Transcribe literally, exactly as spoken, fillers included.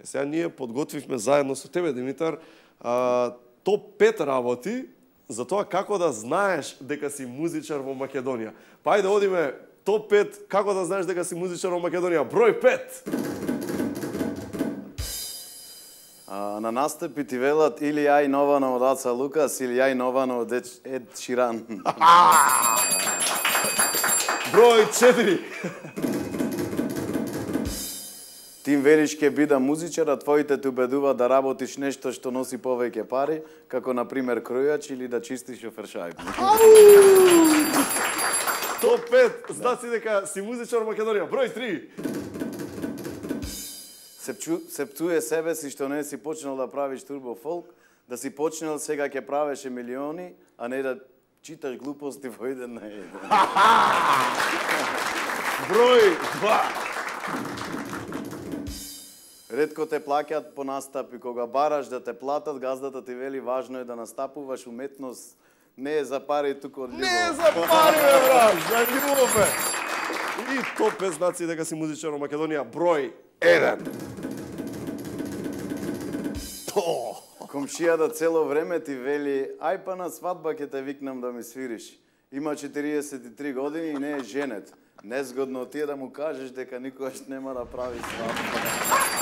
Е, сега ние подготвивме заедно со тебе, Димитар, а, топ пет работи за тоа како да знаеш дека си музичар во Македонија. Па ајде одиме топ пет како да знаеш дека си музичар во Македонија. Број пет. А, на настапи ти велат или јај Новано од Аца Лукас или јај Новано од Ед Ширан. Број четири. Ти им велиш ке бида музичар, а твоите те убедува да работиш нешто што носи повеќе пари, како на пример кројач или да чистиш шофершајб. Топ пет знаци дека си музичар во Македонија. Број три. Се, пчу, се пцуе себе си што не си почнал да правиш турбо фолк, да си почнал сега ќе правеше милиони, а не да читаш глупости во еден на еден. Број два. Ретко те плаќаат по настапи, кога бараш да те платат, газдата ти вели важно е да настапуваш, уметност не е за пари, туку од љубов. Не е за пари, бе, брат, за љубов е. И топ пет знаци дека си музичар во Македонија. Број еден. Комшијата цело време ти вели, ај па на свадба ќе те викнам да ми свириш. Има четириесет и три години и не е женет. Незгодно ти е да му кажеш дека никогаш нема да прави свадба.